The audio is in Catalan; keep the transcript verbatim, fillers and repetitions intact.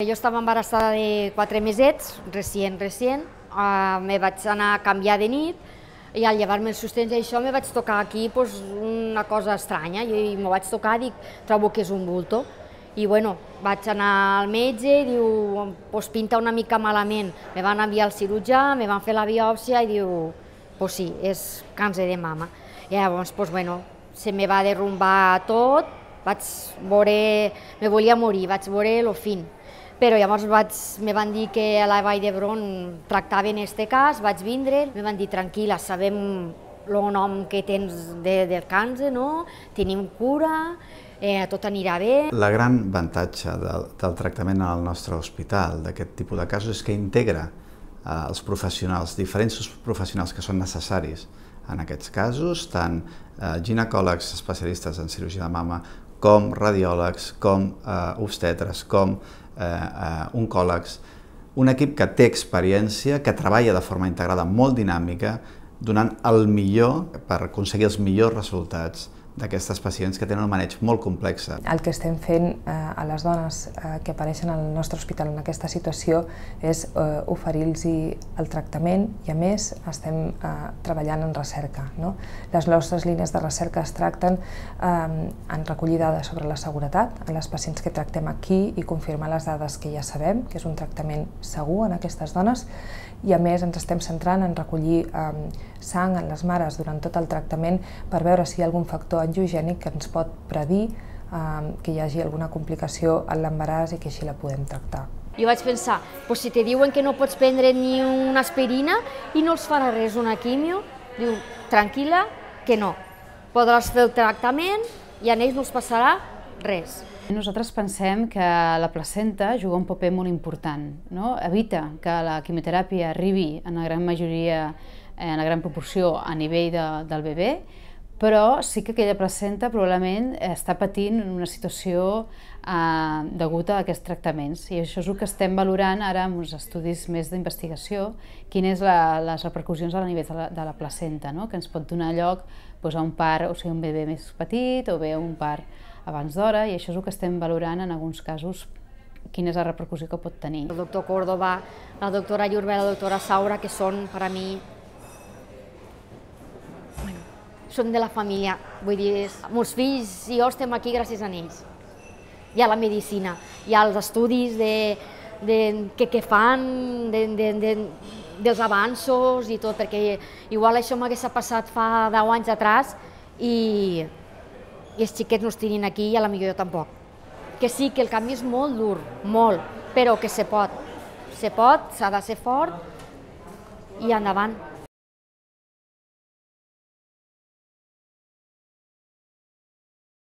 Jo estava embarassada de quatre mesets, recient, recient, uh, me vaig anar a canviar de nit i al llevar-me els sostens i això me vaig tocar aquí pues, una cosa estranya i me vaig tocar i dic, trobo que és un bulto. I bueno, vaig anar al metge i diu, pues pinta una mica malament. Me van enviar al cirurgià, me van fer la biòpsia i diu, pues sí, és càncer de mama. I llavors, pues bueno, se me va derrumbar tot, vaig veure, me volia morir, vaig veure lo fin. Però llavors vaig, me van dir que a la Vall d'Hebron tractaven este cas, vaig vindre, me van dir tranquil·la, sabem el nom que tens de, del càncer, no? Tenim cura, eh, tot anirà bé. La gran avantatge del, del tractament al nostre hospital d'aquest tipus de casos és que integra eh, els professionals, diferents professionals que són necessaris en aquests casos, tant eh, ginecòlegs especialistes en cirurgia de mama, com radiòlegs, com eh, obstetres, com eh, eh, oncòlegs, un equip que té experiència, que treballa de forma integrada molt dinàmica, donant el millor per aconseguir els millors resultats d'aquestes pacients que tenen un maneig molt complex. El que estem fent eh, a les dones eh, que apareixen al nostre hospital en aquesta situació és eh, oferir-los el tractament i, a més, estem eh, treballant en recerca. No? Les nostres línies de recerca es tracten eh, en recollir dades sobre la seguretat en les pacients que tractem aquí i confirmar les dades que ja sabem, que és un tractament segur en aquestes dones, i a més ens estem centrant en recollir eh, sang en les mares durant tot el tractament per veure si hi ha algun factor angiogènic que ens pot predir eh, que hi hagi alguna complicació en l'embaràs i que així la podem tractar. Jo vaig pensar, pues si te diuen que no pots prendre ni una aspirina i no els farà res una quimio, diu, tranquil·la, que no. Podràs fer el tractament i a ells no els passarà res. Nosaltres pensem que la placenta juga un paper molt important, no? Evita que la quimioteràpia arribi en la gran majoria, en la gran proporció a nivell de, del bebè, però sí que aquella placenta probablement està patint una situació eh, deguda a aquests tractaments, i això és el que estem valorant ara amb uns estudis més d'investigació, quines són les repercussions a nivell de la, de la placenta, no? Que ens pot donar lloc doncs, a un part, o sigui, un bebè més petit o bé un part abans d'hora, i això és el que estem valorant en alguns casos, quina és la repercussió que pot tenir. El doctor Córdoba, la doctora Llurbe, la doctora Saura, que són per a mi, bueno, són de la família, vull dir, meus fills i jo estem aquí gràcies a ells. Hi ha la medicina, hi ha els estudis de, de, que, que fan, de, de, de, dels avanços i tot, perquè igual això m'hagués passat fa deu anys atràs i i els xiquets no estiguin aquí i a la millor jo tampoc. Que sí, que el canvi és molt dur, molt, però que se pot. Se pot, s'ha de ser fort i endavant.